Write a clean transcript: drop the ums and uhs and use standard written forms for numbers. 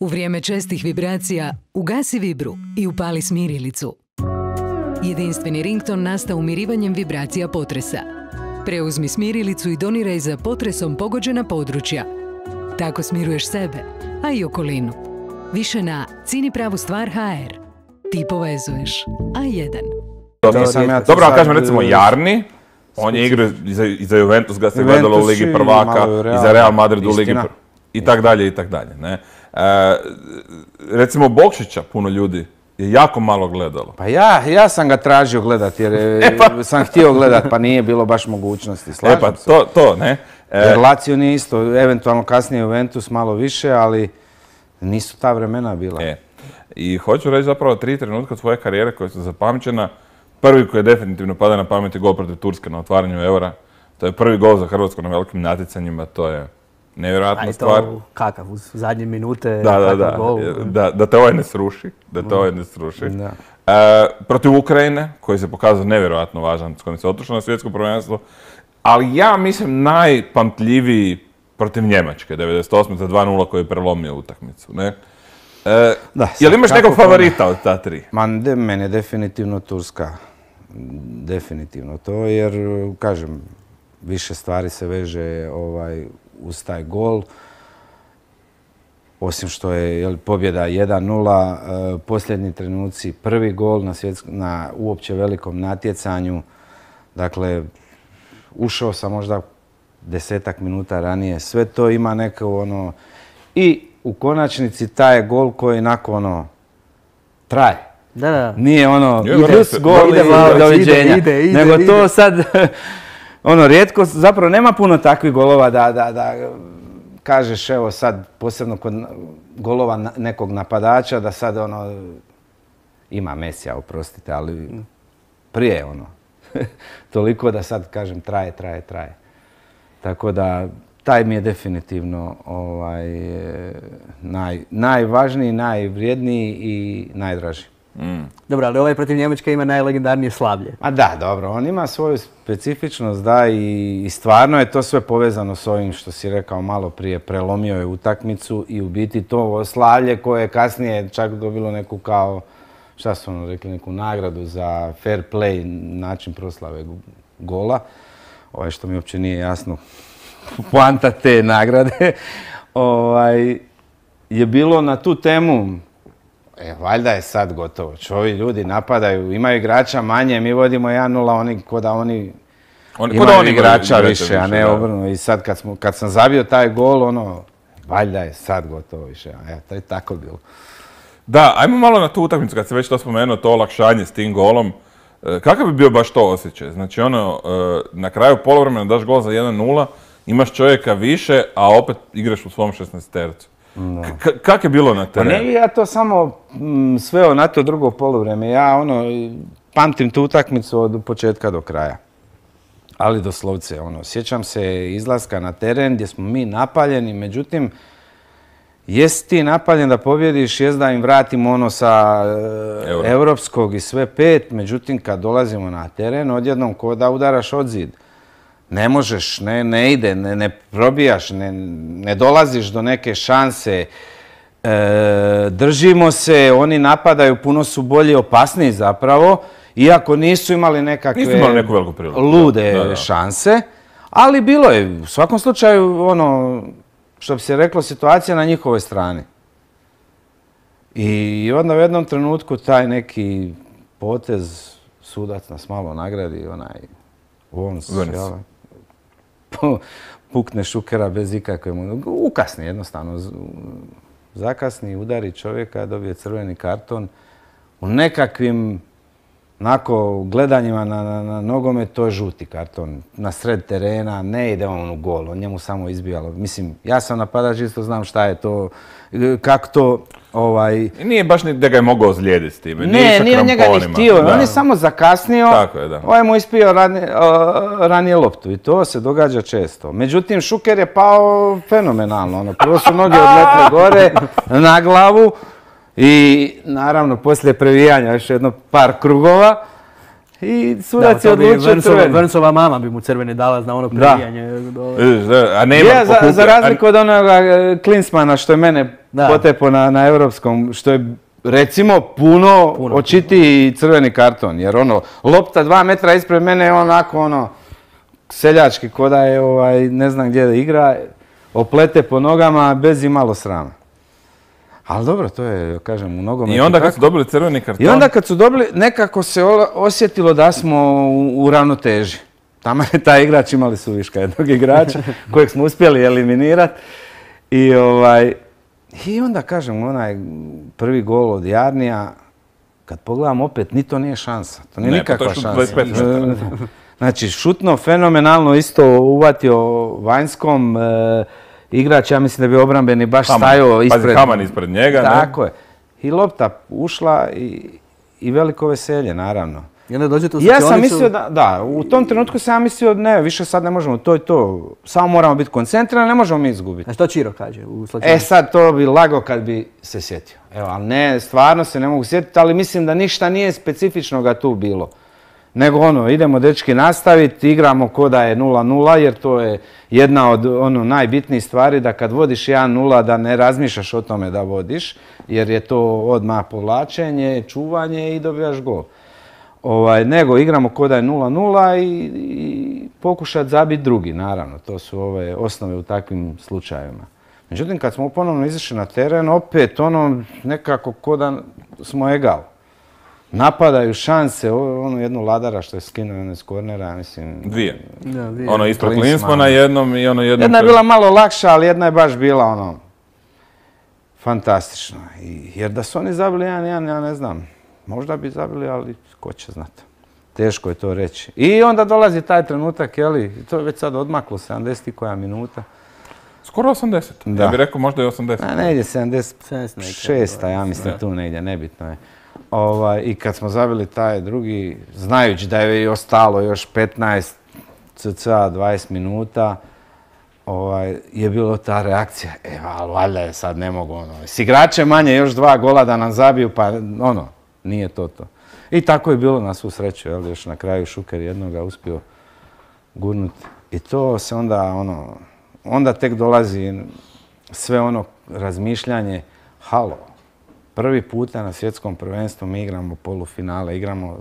U vrijeme čestih vibracija ugasi vibru i upali smirilicu. Jedinstveni rington nastao umirivanjem vibracija potresa. Preuzmi smirilicu i doniraj za potresom pogođena područja. Tako smiruješ sebe, a i okolinu. Više na CiniPravuStvar.hr. Ti povezuješ. A1. Dobro, ali kažem recimo Jarni, on je igrao i za Juventus, ga se gledalo u Ligi prvaka, i za Real Madrid u Ligi prvaka, i tak dalje, i tak dalje. Recimo Bokšića puno ljudi je jako malo gledalo. Pa ja sam ga tražio gledat jer sam htio gledat pa nije bilo baš mogućnosti. Slažem se. To, ne? Jer Lazio nije isto, eventualno kasnije Juventus malo više, ali nisu ta vremena bila. I hoću reći zapravo 3 trenutka svoje karijere koje su zapamćena. Prvi koji je definitivno pada na pamet je gol protiv Turske na otvaranju Eura. To je prvi gol za Hrvatsku na velikim natjecanjima, to je nevjerojatna stvar. A i to kakav, uz zadnje minute, da te ovaj ne sruši. Protiv Ukrajine, koji se pokazao nevjerojatno važan, s kojim se otišlo na svjetsko prvenstvo. Ali ja mislim najpamtljiviji protiv Njemačke, 98. za 2:0 koji je prelomio utakmicu. Jel imaš nekog favorita od ta 3? Mene definitivno Turska. Definitivno to, jer, kažem, više stvari se veže uz taj gol. Osim što je pobjeda 1:0, posljednji trenuci, prvi gol na uopće velikom natjecanju. Dakle, ušao sam možda 10-ak minuta ranije. Sve to ima neko I u konačnici taj gol koji onako traje. Nije gol i doviđenja. Nego to sad, rijetko, zapravo nema puno takvih golova da kažeš, evo sad, posebno kod golova nekog napadača, da sad ima Mesija, oprostite, ali prije toliko da sad kažem traje. Tako da, taj mi je definitivno najvažniji, najvrijedniji i najdraži. Dobro, ali ovaj protiv Njemačke ima najlegendarnije slavlje. A da, dobro, on ima svoju specifičnost, da, i stvarno je to sve povezano s ovim što si rekao malo prije, prelomio je utakmicu i u biti to slavlje koje je kasnije čak dobilo neku kao, šta su rekli, neku nagradu za fair play, način proslave gola, što mi uopće nije jasno. Poanta te nagrade je bilo na tu temu, valjda je sad gotovo. Ovi ljudi napadaju, imaju igrača manje, mi vodimo 1:0, oni ko da oni imaju igrača više, a ne obrnuto. I sad kad sam zabio taj gol, valjda je sad gotovo više. To je tako bilo. Da, ajmo malo na tu utakmicu, kad se već to spomenuo, to olakšanje s tim golom. Kakav bi bio baš to osjećaj? Znači, na kraju poluvremena daš gol za 1:0, imaš čovjeka više, a opet igraš u svom 16-tercu. Kak je bilo na terenu? Pa ne bi ja to samo sveo na to drugo poluvreme. Ja pamtim tu utakmicu od početka do kraja. Ali doslovce, sjećam se izlaska na teren gdje smo mi napaljeni, međutim, jesi ti napaljen da pobjediš, jest da im vratimo sa europskog i sve 5, međutim, kad dolazimo na teren, odjednom ko da udaraš od zid. Ne možeš, ne ide, ne probijaš, ne dolaziš do neke šanse. Držimo se, oni napadaju, puno su bolji, opasniji zapravo, iako nisu imali nekakve lude šanse. Ali bilo je, u svakom slučaju, što bi se reklo, situacija na njihovoj strani. I onda u jednom trenutku taj neki potez, sudac nas malo nagradi, pukne Šukera bez ikakve... Ukasni jednostavno. Zakasni, udari čovjeka, dobije crveni karton. U nekakvim gledanjima na nogomet to je žuti karton. Na sred terena, ne ide on u gol, on njemu samo izbijalo. Mislim, ja sam napadač, isto znam šta je to, kako to... Nije baš ni da ga je mogao ozlijediti s time. Nije njega ni htio, on je samo zakasnio, ovaj mu ispio ranije loptu i to se događa često. Međutim, Šuker je pao fenomenalno, prvo su noge odletne gore na glavu i naravno poslije previjanja još jedno par krugova I sudac je odlučio crveni. Vrncova mama bi mu crveni dala na ono prebijanje. A nema Za razliku od onoga Klinsmana što je mene potepo na europskom, što je recimo puno očitiji crveni karton. Jer ono, lopta 2 metra ispred mene je onako ono, seljački ko da je ne znam gdje da igra, oplete po nogama bez imalo srama. Ali dobro, to je, kažem, u nogometu. I onda kad su dobili crveni karton? I onda kad su dobili, nekako se osjetilo da smo u ravnoteži. Tamo je taj igrač, imali su viška jednog igrača kojeg smo uspjeli eliminirati. I onda, kažem, onaj prvi gol od Jarnija, kad pogledam opet, ni to nije šansa. To nije nikakva šansa. Znači, šutno fenomenalno isto uvatio vanjskom. Igrač, ja mislim da bi obrambeni baš stajao ispred. Pazi, Haman ispred njega. Tako je. I lopta ušla i veliko veselje, naravno. I onda dođete u Ja sam mislio da, u tom trenutku sam ja mislio ne, više sad ne možemo, to je to. Samo moramo biti koncentrirani, ne možemo mi izgubiti. A što Čiro kaže u slučaju? Sad to bi lago kad bi se sjetio. Evo, ali ne, stvarno se ne mogu sjetiti, ali mislim da ništa nije specifičnoga tu bilo. Nego idemo dečki nastaviti, igramo ko da je 0-0 jer to je jedna od najbitnijih stvari da kad vodiš 1-0 da ne razmišljaš o tome da vodiš jer je to odmah povlačenje, čuvanje i dobijaš gol. Nego igramo ko da je 0-0 i pokušati zabiti drugi, naravno. To su ove osnove u takvim slučajevima. Međutim, kad smo ponovno izašli na teren, opet nekako ko da smo egal. Napadaju šanse, jednu Ladara što je skinuo iz kornera, mislim... Dvije. Ono ispred Klinsmana jednom i jednom... Jedna je bila malo lakša, ali jedna je baš bila fantastična. Jer da su oni zabili 1-1, ja ne znam. Možda bi zabili, ali ko će znati. Teško je to reći. I onda dolazi taj trenutak, to je već sad odmaklo, 70 i koja minuta. Skoro 80. Ja bih rekao možda i 80. Ne ide 76, ja mislim tu negdje, nebitno je. I kad smo zabili taj drugi, znajući da je ostalo još 15 cca 20 minuta, je bilo ta reakcija, ali valjda je sad ne mogu, s igrače manje još 2 gola da nam zabiju, pa nije to. I tako je bilo na svu sreću, još na kraju Šuker jednoga uspio gurnuti. I to se onda tek dolazi sve razmišljanje, halo, prvi puta na svjetskom prvenstvu mi igramo polufinale, igramo